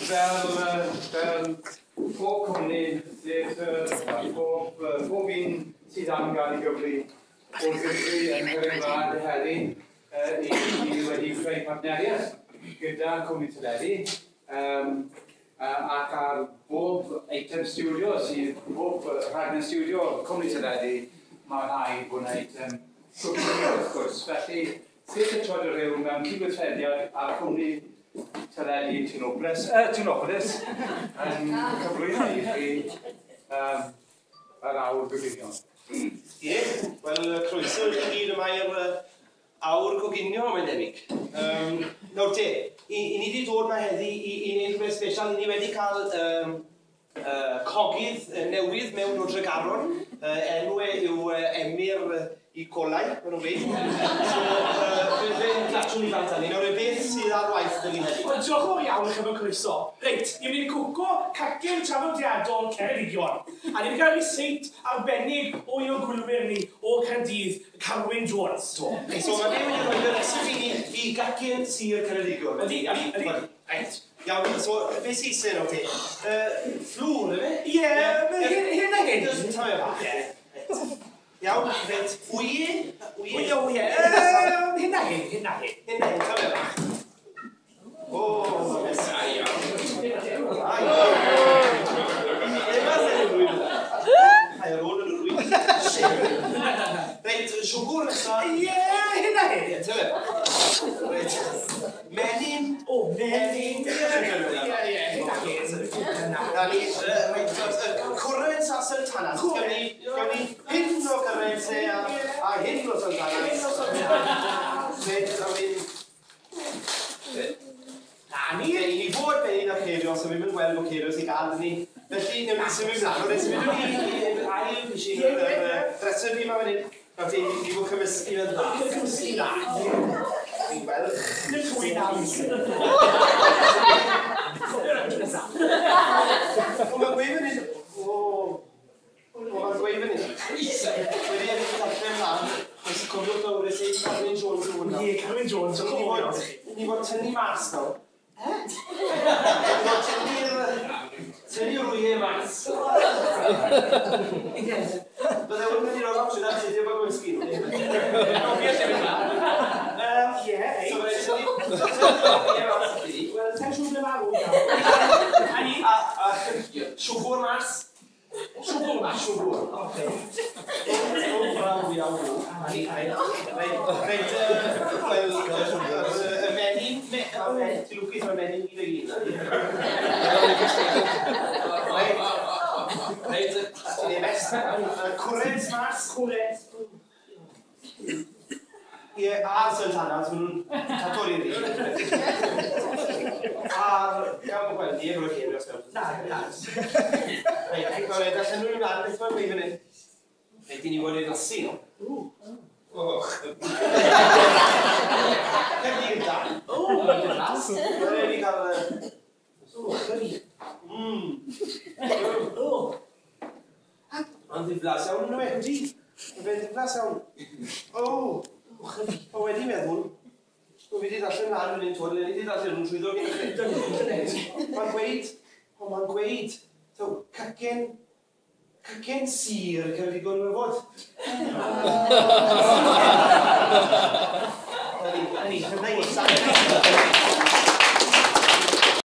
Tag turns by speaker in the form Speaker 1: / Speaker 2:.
Speaker 1: Fel pob cwmni theatr, pob un sydd am gael ei gyfri, o'r gyfri yn Cymru Wlad heddi, i wedi creu partneriaeth gyda cwmni teledu, ac ar bob eitem stiwdio sydd, bob rhaglen stiwdio cwmni teledu, mae rhaid bod yna eitem coginio wrth gwrs. Felly, Theatr Troed-y-rhiw mewn cydweithrediad â cwmni teledu Tinopolis yn cyflwyno i chi yr awr goginio.
Speaker 2: Ie, wel, croeso i chi gyd yma i'r awr goginio, mae'n debyg. Nawr te, i ni wedi dod yma heddi i wneud rhywbeth special. I ni wedi cael cogydd newydd mewn o Dregaron. Enw e yw Emyr i Colau, maen nhw'n gweud. So, fe glatwn ni bant ni. Nawr, beth sydd ar waith dyn ni heddi?
Speaker 3: Wel, diolch yn fawr iawn i chi am y croeso. Reit, ni'n mynd i cwco cacen traddodiadol Ceredigion. A ni wedi cael ryseit arbennig o un o'n gwylwyr ni o Caerdydd, Carwyn Jones.
Speaker 2: Do. So, mae fe wedi rhoi y recipe i ni i gacen Sir Ceredigion.
Speaker 3: Ydy, ydy, ydy. Reit.
Speaker 2: Iawn, so, beth sy'n sy'n o'r te? Fflwr, efe?
Speaker 3: Ie, hyn a hyn.
Speaker 2: Just tamed bach.
Speaker 3: Ie.
Speaker 2: Iawn, reit, wye?
Speaker 3: Wye, wye. Hyn a hyn, hyn a hyn.
Speaker 2: Hyn a hyn, tamed bach. O, da iawn. Da iawn. Ai, ar ôl yn yr wy. Reit, siwgr nesa.
Speaker 3: Ie, hyn a hyn.
Speaker 2: Ie, tamed bach. Reit. Menyn.
Speaker 3: O, menyn. Ie, ie, hyn a hyn.
Speaker 2: Na ni, reit, cwrens a sultanas. Gawn ni hyn o cwrens e a hyn o sultanas.
Speaker 3: Hyn o sultanas.
Speaker 2: Reit, a wedyn...
Speaker 3: Na ni.
Speaker 2: I ni fod menyn a ceirios, a fi'n mynd gweld bod ceirios i gael ni. Felly, newn ni symud mlaen. Reit, symudwn ni i'r ail machine, yr recipe yma fan hyn. Nawr te, ni fod cymysgu yn dda.
Speaker 3: Cymysgu dda.
Speaker 2: Fi'n gweld.
Speaker 3: Dim llwy na.
Speaker 2: O, mae'n gweud fan hyn. O, mae'n gweud fan hyn. Wedi edrych darllen mlaen, os cofiwch nawr, es i Carwyn Jones yn hwnna.
Speaker 3: Ie, Carwyn Jones,
Speaker 2: Ni fod tynnu mas nawr.
Speaker 3: E?
Speaker 2: Ni fod tynnu'r wyau mas. Bydde hwn wedi rhoi opsiwn ar ti, ddim yn gymysgu nhw.
Speaker 3: Ie, ei.
Speaker 2: So, mae'n tynnu'r wyau mas i ti.
Speaker 3: Wel, sa'n siŵr ble ma' nhw nawr. A ni?
Speaker 2: A siwgr mas.
Speaker 3: Siwgr mas?
Speaker 2: Siwgr.
Speaker 3: Oce.
Speaker 2: O, braw iawn. Reit, wel, y menyn, ti'n lwcus mae'r menyn gyd o'i hun. Reit, ti'n ei mess. Cwrens mas.
Speaker 3: Cwrens.
Speaker 2: Ie, a'r sultanas, maen nhw'n tator i'r un. A'r, gawn gweld, ni efo'r ceirios nawr.
Speaker 3: Na, na.
Speaker 2: Reit, nawr, allan nhw'n ymlaen, beth mae'n gweud fan hyn? Reit, i ni fod ei lasu nhw. Och. Cefn da.
Speaker 3: O, mae'n las.
Speaker 2: Mae'n wedi cael...
Speaker 3: O, chyri. O.
Speaker 2: Mae'n ddiflas iawn yn yw.
Speaker 3: Ydy.
Speaker 2: Mae'n ddiflas iawn. O.
Speaker 3: O, chyri.
Speaker 2: O, wedi meddwl. O, fi wedi darllen mlaen fan hyn, twel, ni wedi darllen nhw'n trwyddo gyda chi. Mae'n gweud, o, mae'n gweud, so, cacen Sir Ceredigion mae'n fod. Na ni, na ni.